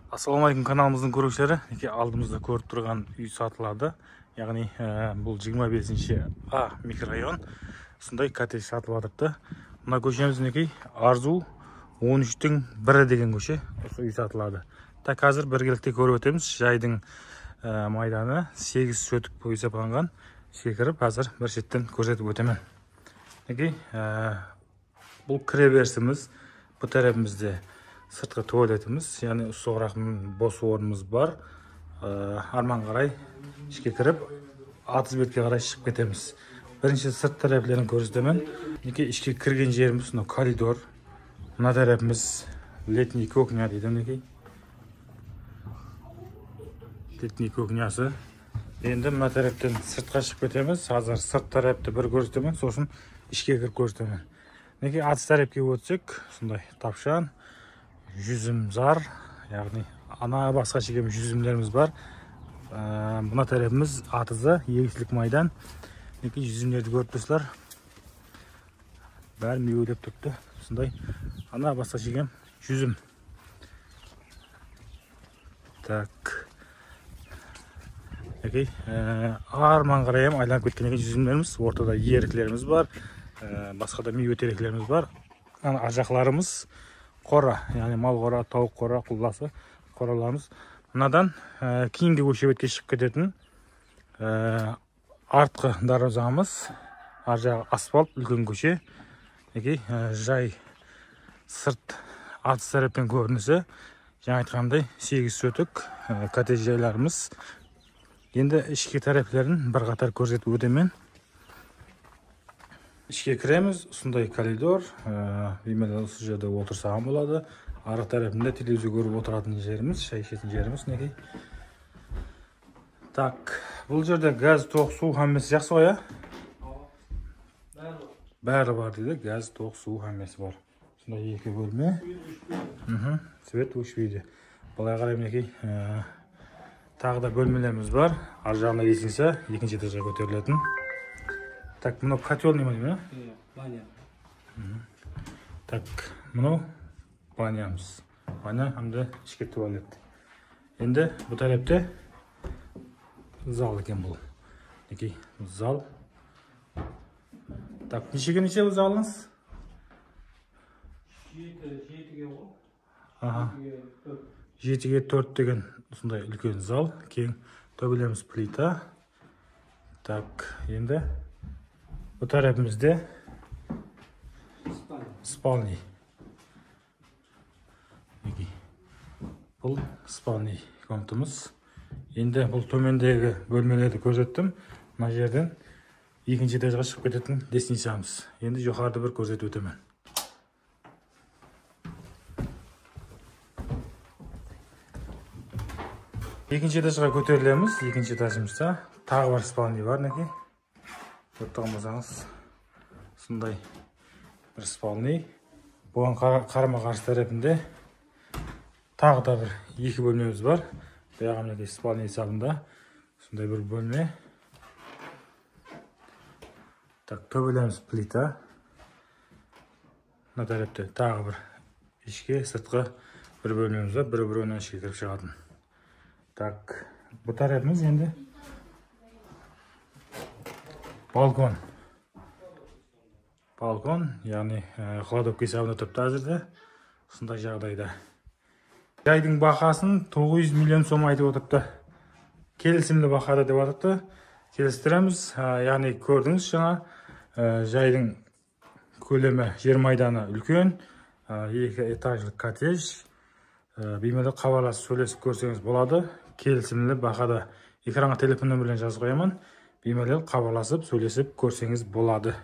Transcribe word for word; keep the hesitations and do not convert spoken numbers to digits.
Ассалаумағалейкум, каналымыздың көрушілері. Алдымызда көріп тұрған үй сатылады. Яғни бұл жиырма бесінші А микрорайон. Сондай коттедж сатылып жатырды. Мына көшеміз мінекей Арзу он үштің бірі деген көше. Осы үй сатылады. Так, қазір біргелікте көріп өтеміз. Жайдың майданы сегіз сөтік бойы сапанған. Секіріп, қазір бір шеттен көрсетіп өтемен. Мінекей бұл кіреберісіміз. Бұл тарапымызда сыртқы туалетіміз, яғни соғырақ бос орнымыз бар. Арман қарай ішке кіріп, атыз бетке қарай шығып кетеміз. Бірінші сырт тарапыларын көрсетемін. Мінекей ішке кірген жеріміз мынау коридор. Мына тарапымыз летний кухня дейді мінекей. Летний кухнясы. Енді мына тараптан сыртқа шығып кетеміз. Қазір сырт тарапты бір көрсетемін, сосын ішке кіріп көрсетемін. Мінекей атыз тарапқа өтсек, сондай тапшан, жүзім зар, яғни ана басқа шегем жүзімдеріміз бар. Бұна тарапымыз атызы егістілік майдан. Мінекей жүзімдерді көріп тұрсыздар. Бәрі меуелеп тұрды. Сондай ана басқа шегем жүзім. Так. Мінекей арман қарайым айланып кеткен жүзімдеріміз. Ортада еріклеріміз бар. Басқада меуе теректеріміз бар. Ажақларымыз қора, яғни мал қора, тауық қора, құлласы қораларымыз. Мынадан кейінгі көшебетке шығып кететін артқы дарозамыз, ар жағы асфальт, үлкен көше. Жай сырт атыз тараппен көрінісі. Жаңа айтқандай сегіз сөтік коттедж жайларымыз. Енді ішке тараптарын бір қатар көрсетіп өтемен. Ішке кіреміз, сондай коридор, беймелі осы жерде отырсаған болады. Арық тарапында телевизор көріп отыратын жеріміз, шай ішетін жеріміз некей. Так, бұл жерде газ, тоқ, су хаммесі жақсы ғой, ә? Бәрі бар дейді, газ, тоқ, су хаммесі бар. Сондай екі бөлме. Свет өшпейді. Бұлай қарай мінекей тағы да бөлмелеріміз бар. Ар жағына есінсе, екінші этажға көтерілетін. Так, мұнау котел неме деймін, ә? Баня. Так, мұнау банямыз. Баня, әмді ішке туалет. Енді бұл тарапта зал екен бұл. Некей, зал. Так, нешеге неше бұл залыңыз? Жетіге ғой. Жетіге төрт деген сондай үлкен зал. Кейін төбелеріміз плита. Так, енді бұл тарапымызда спальный. Бұл спальный комнатамыз. Енді бұл төмендегі бөлмелерді көрсеттім. Мына жерден екінші этажға шығып кететін лестницамыз. Енді жоғарыда бір көрсетіп өтемін. Екінші этажға көтерілеміз. Екінші этажымызда тағы бар спальный бар, неке. Көріп болсаңыз, сондай бір спальный. Бұған қарама-қарсы тарапында тағы да бір екі бөлмеміз бар. Бұяға мінекей спальный есабында сондай бір бөлме. Так, төбелеріміз плита. Мына тарапта тағы бір ішке, сыртқы бір бөлмеміз бар. Бір-бірінен ішке кіріп шығатын. Так, бұл тарапымыз енді балкон. Балкон, яғни кладовка есабында тұрыпты әзірде. Сондай жағдайда. Жайдың бақасын тоғыз жүз миллион сом айтып отырыпты. Келісімді бақада деп отырыпты. Келістіреміз, яғни көрдіңіз жаңа. Жайдың көлемі жер майданы үлкен. Екі этажлы коттедж. Беймелі хабарласып сөйлесіп көрсеңіз болады. Келісімді бақада экранға телефон нөмірін жазып қоямын. Беймелі хабарласып сөйлесіп көрсеңіз болады.